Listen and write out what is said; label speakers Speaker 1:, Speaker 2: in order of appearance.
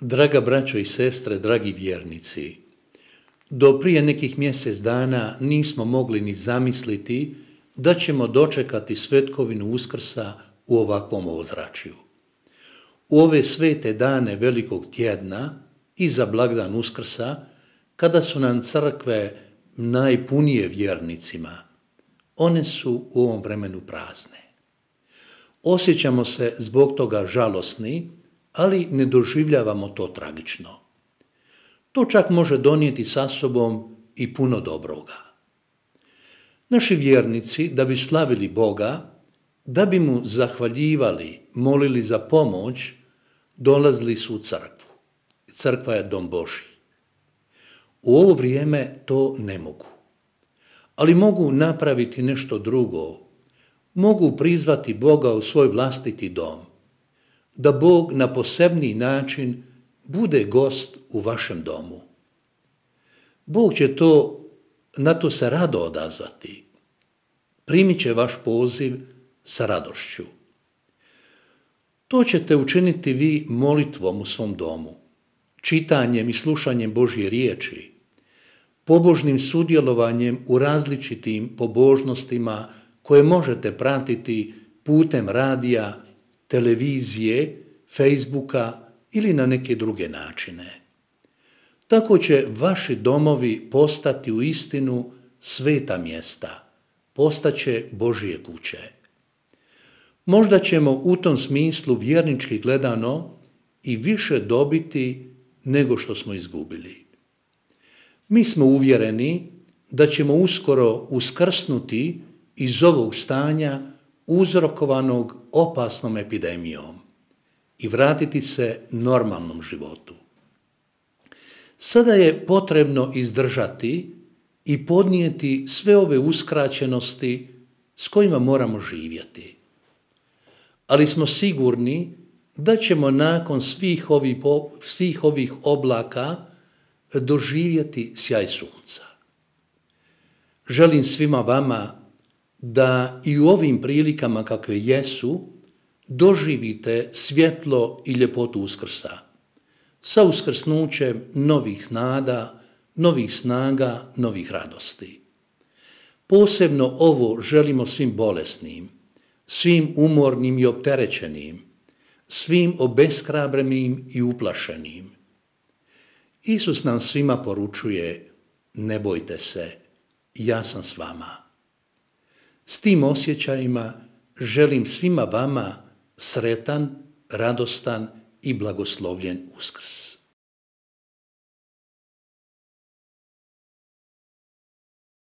Speaker 1: Draga braćo i sestre, dragi vjernici, do prije nekih mjesec dana nismo mogli ni zamisliti da ćemo dočekati svetkovinu Uskrsa u ovakvom ozračju. U ove svete dane velikog tjedna i za blagdan Uskrsa, kada su nam crkve najpunije vjernicima, one su u ovom vremenu prazne. Osjećamo se zbog toga žalosni, ali ne doživljavamo to tragično. To čak može donijeti sa sobom i puno dobroga. Naši vjernici, da bi slavili Boga, da bi mu zahvaljivali, molili za pomoć, dolazili su u crkvu. Crkva je dom Božji. U ovo vrijeme to ne mogu. Ali mogu napraviti nešto drugo. Mogu prizvati Boga u svoj vlastiti dom. Da Bog na posebniji način bude gost u vašem domu. Bog će na to se rado odazvati. Primit će vaš poziv sa radošću. To ćete učiniti vi molitvom u svom domu, čitanjem i slušanjem Božje riječi, pobožnim sudjelovanjem u različitim pobožnostima koje možete pratiti putem radija, televizije, Facebooka ili na neke druge načine. Tako će vaši domovi postati u istinu sveta mjesta, postaće Božje kuće. Možda ćemo u tom smislu vjernički gledano i više dobiti nego što smo izgubili. Mi smo uvjereni da ćemo uskoro uskrsnuti iz ovog stanja uzrokovanog opasnom epidemijom i vratiti se normalnom životu. Sada je potrebno izdržati i podnijeti sve ove uskraćenosti s kojima moramo živjeti. Ali smo sigurni da ćemo nakon svih ovih oblaka doživjeti sjaj sunca. Želim svima vama da i u ovim prilikama kakve jesu doživite svjetlo i ljepotu Uskrsa, sa uskrsnućem novih nada, novih snaga, novih radosti. Posebno ovo želimo svim bolesnim, svim umornim i opterećenim, svim obeshrabrenim i uplašenim. Isus nam svima poručuje: ne bojte se, ja sam s vama. S tim osjećajima želim svima vama sretan, radostan i blagoslovljen Uskrs.